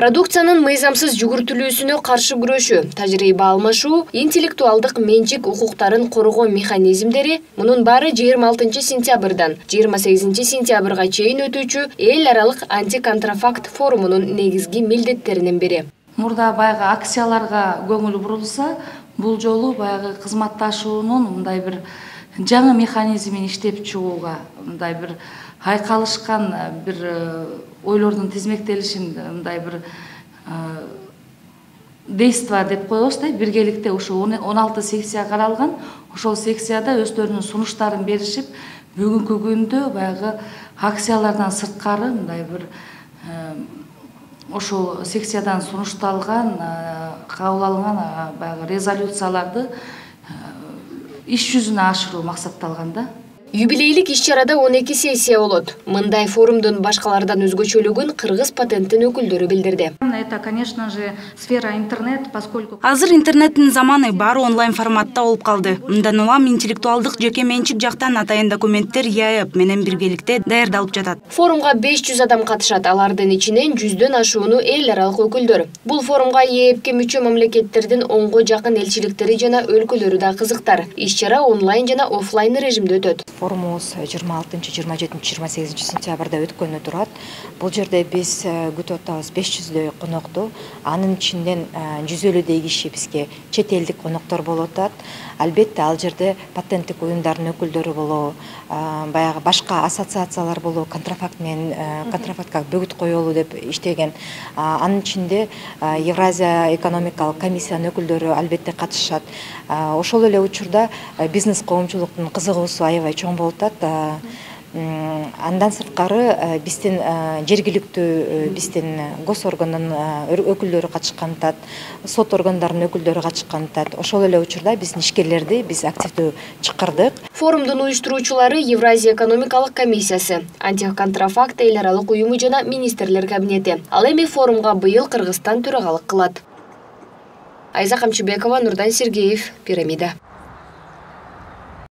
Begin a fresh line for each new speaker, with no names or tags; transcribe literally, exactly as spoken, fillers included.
Продукциянын мыйзамсыз жүгүртүлүүсүнө каршы күрөшүү, тажрыйба алмашуу, интеллектуалдык менчик укуктарын коргоо механизмдери — мунун баары жыйырма алтынчы сентябрдан жыйырма сегизинчи сентябрга чейин өтүүчү эл аралык антиконтрафакт форумунун негизги милдеттеринин бири.
Мурда баягы акцияларга көңүл бурулса, бул жолу баягы кызматташуунун мындай бир жаңы механизмин иштеп чыгууга, мындай бир айкалышкан бир ойлордун тизмектелишин, мындай бир действо деп коебуз да, биргеликте ушу он алты секция каралган. Ошол секцияда өздөрүнүн сунуштарын беришип, бүгүнкү күндө баягы акциялардан сырткары мындай бир ошол секциядан сунушталган, кабыл алынган баягы резолюцияларды иш жүзүнө ашыруу максатталган да.
Юбилейлик иш-чарада он эки сессия болот. Мындай форумдун башкалардан өзгөчөлүгүн кыргыз патенттин өкүлдөрү билдирди.
Это, конечно же, сфера интернет, поскольку
азыр интернеттин заманы, баары онлайн форматта болуп калды. Мындан улам интеллектуалдык жеке менчик жактан атайын документтер и а эп менен биргеликте даярдалып жатат.
Форумга беш жүз адам катышат, алардын ичинен жүздөн ашууну эл аралык өкүлдөр. Бул форумга и а эпке мүчө мамлекеттердин онго жакын элчиликтери жана өлкөлөрү да кызыктар. Иш-чара онлайн жана офлайн режимде өтөт.
Форумубуз жыйырма алтынчы, жыйырма жетинчи, жыйырма сегизинчи сентябрда өткөнү турат. Бул жерде биз күтүп атабыз беш жүздөй конокту. Анын ичинен жүзөлүдөй киши бизге чет элдик коноктор болуп атат. Албетте ал жерде патенттик уюмдардын өкүлдөрү болобу, баягы башка ассоциациялар болобу, контрафакт менен контрафактка бөгүт коелу деп иштеген. Анын ичинде Евразия экономикалык комиссиянын өкүлдөрү албетте катышат. Ошол эле учурда бизнес коомчулуктун кызыгуусу аябай чоң болуп атат. Андан сырткары биздин жергиликтүү биздин гос органдын өкүлдөрү катышкан атат, сот органдарынын өкүлдөрү катышкан атат. Ошол эле учурда биздин ишкерлерди биз активдүү чакырдык.
Форумдун уюштуруучулары Евразия экономикалык комиссиясы, антиконтрафакт эл аралык уюму жана министрлер кабинети. Ал эми форумга быйыл Кыргызстан төрагалык кылат. Айза Камчыбекова, Нурдан Сергеев, Пирамида.